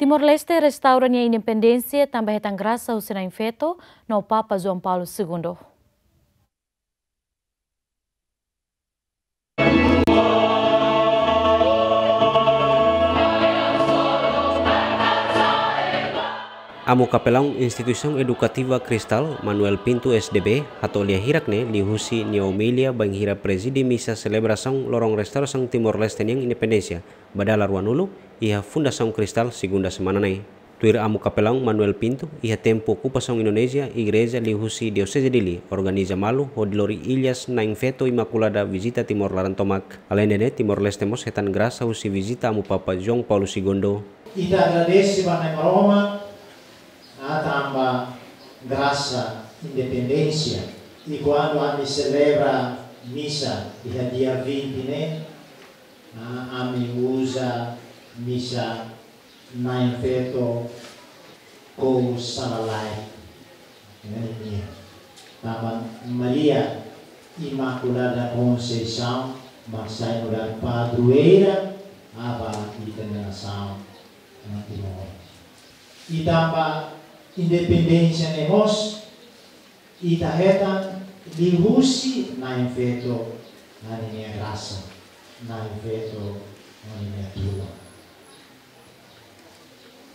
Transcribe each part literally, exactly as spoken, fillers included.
Timor-Leste restaura nia independénsia tanba hetan grasa husi Na'in Feto no Papa João Paulo Segundo. Amu Kapelaun Instituisaun Edukativa Kristal, Manuel Pinto, S D B, hato'o lia hirak ne'e liuhusi nia omilia bainhira prezide misa selebrasaun loron restaurasaun Timor-Leste nian independénsia ba dala ruanulu iha Fundasaun Kristal, segunda semana ne'e. Tuir Amu Kapelaun Manuel Pinto, iha tempu okupasaun Indonézia, igreja liuhusi Dioseze Dili organiza malu hodi lori Ilhas Na'in Feto Imakulada vizita Timor laran tomak. Aleinde ne'e, Timor-Leste mós hetan grasa husi vizita Amu Papa João Paulo Segundo. Ita agradese ba Nai Maromak, ah, tanba grasa independénsia. I kuandu ami selebra misa iha dia vinte ne'e, ah, ami uza misa Na'in Feto Kous Sala Laek. Ne'e nia. Tanba Maria Imakulada Konseisaun mak sai nu'udar padroeira ba ita-nia nasaun, ah, Timor. I tanba independénsia ne'e mós, ita hetan liuhusi Na'in Feto ninia grasa, Na'in Feto ninia tulun.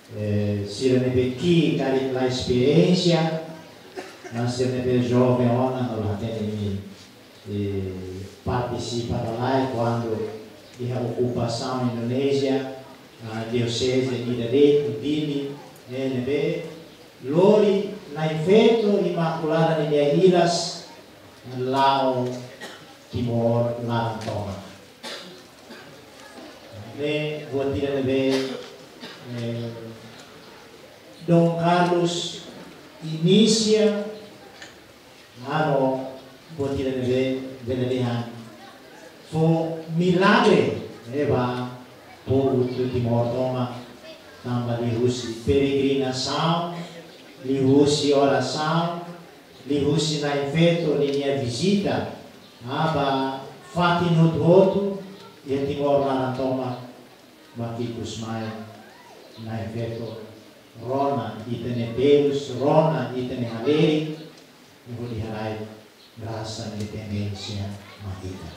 Eh, sira ne'ebé ki'ik karik la esperiénsia, mas sira ne'ebé joven ona no la hatene imi, eh, partisipa lalais kuandu iha okupasaun Indonézia, ah, dioseze ida de'it, Dili, eh, ne'ebé lori Na'in Feto Imakulada ninia Ilhas la'o Timor laran tomak. Ne'e buat ida ne'ebé, eh, Dom Carlos inisia, halo buat ida ne'ebé bele dehan fó milagre, eh, ba povu Timor tomak, tanba liuhusi peregrinasaun, liuhusi orasaun, liuhusi Na'in Feto ninia vizita ba fatin hotu-hotu iha Timor laran tomak, mak ikus mai Na'in Feto rona ita-nia terus, rona ita-nia halerik, hodi halai grasa independénsia mai ita.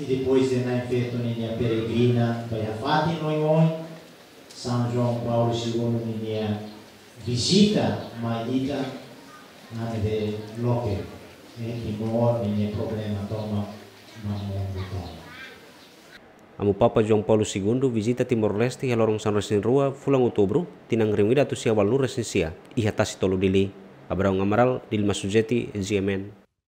I depois de Na'in Feto ninia peregrina ba iha fatin oioin, São João Paulo Segundo ninia vizita mai ita, ne'e loke, eh, Timor ninia problema tomak ba mundu tomak. Amu Papa João Paulo Segundo vizita Timor-Leste iha loron sanulu-resin-rua fulan Outubru, tinan rihun ida atus sia ualunulu-resin-sia, iha Tasi Tolu, Dili. Abraão Amaral, Dilma Sujeti, G M N.